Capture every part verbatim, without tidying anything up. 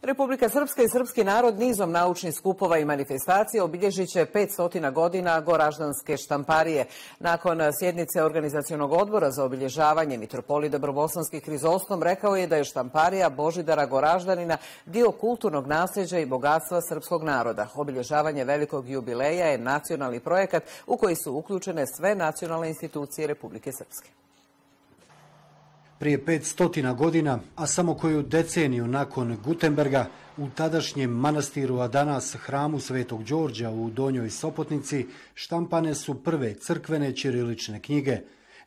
Republika Srpska i srpski narod nizom naučnih skupova i manifestacija obilježit će petsto godina Goraždanske štamparije. Nakon sjednice Organizacionog odbora za obilježavanje, mitropolit Dobrobosanski Hrizostom rekao je da je štamparija Božidara Goraždanina dio kulturnog nasljeđa i bogatstva srpskog naroda. Obilježavanje velikog jubileja je nacionalni projekat u koji su uključene sve nacionalne institucije Republike Srpske. Prije petsto godina, a samo koju deceniju nakon Gutenberga, u tadašnjem manastiru, a danas hramu Svetog Đorđa u Donjoj Sopotnici, štampane su prve crkvene ćirilične knjige.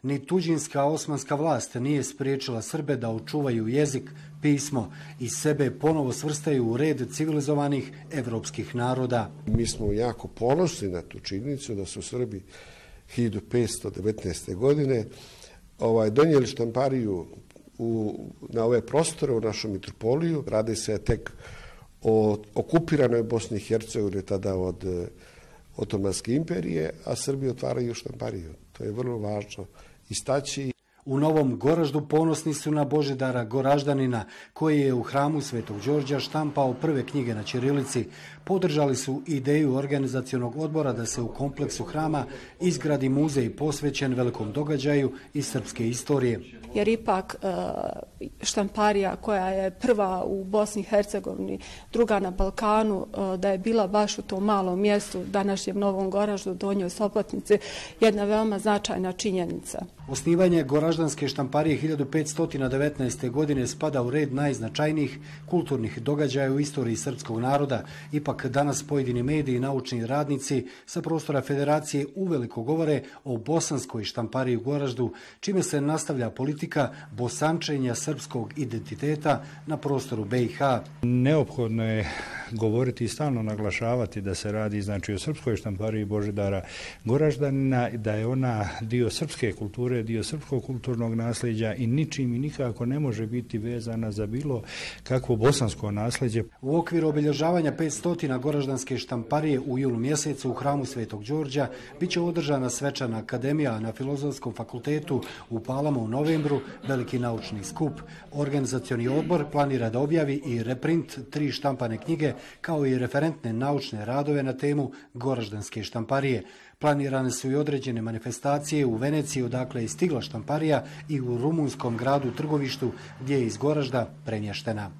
Ni tuđinska osmanska vlast nije spriječila Srbe da očuvaju jezik, pismo i sebe ponovo svrstaju u red civilizovanih evropskih naroda. Mi smo jako ponosni na tu činjenicu da su Srbi hiljadu petsto devetnaeste. godine Ovaj, donijeli štampariju u, na ove prostore u našu mitropoliju. Radi se tek o okupiranoj Bosni i Hercegovini tada od Otomanske imperije, a Srbi otvaraju štampariju. To je vrlo važno istaći. U Novom Goraždu ponosni su na Božidara Goraždanina, koji je u hramu Svetog Đorđa štampao prve knjige na ćirilici. Podržali su ideju organizacionog odbora da se u kompleksu hrama izgradi muzej posvećen velikom događaju iz srpske istorije. Jer ipak štamparija koja je prva u Bosni i Hercegovini, druga na Balkanu, da je bila baš u tom malom mjestu, današnjem Novom Goraždu, Donjoj Sopotnici, jedna veoma značajna činjenica. Osnivanje Goraždanske štamparije hiljadu petsto devetnaeste. godine spada u red najznačajnijih kulturnih događaja u istoriji srpskog naroda. Ipak danas pojedini mediji i naučni radnici sa prostora Federacije uveliko govore o bosanskoj štampariji u Goraždu, čime se nastavlja politika bosančenja srpskog identiteta na prostoru B i H. Neophodno je govoriti i stalno naglašavati da se radi znači o srpskoj štampariji Božidara Goraždanina, da je ona dio srpske kulture, dio srpskog kulturnog nasljeđa i ničim i nikako ne može biti vezana za bilo kakvo bosansko nasljeđe. U okviru obilježavanja petsto Goraždanske štamparije u julu mjesecu u hramu Svetog Đorđa biće održana svečana akademija na Filozofskom fakultetu u Palama u novembru, veliki naučni skup. Organizacioni odbor planira da objavi i reprint tri štampane knjige kao i referentne naučne radove na temu Goraždanske štamparije. Planirane su i određene manifestacije u Veneciji, odakle je stigla štamparija, i u rumunskom gradu Trgovištu, gdje je iz Goražda premještena.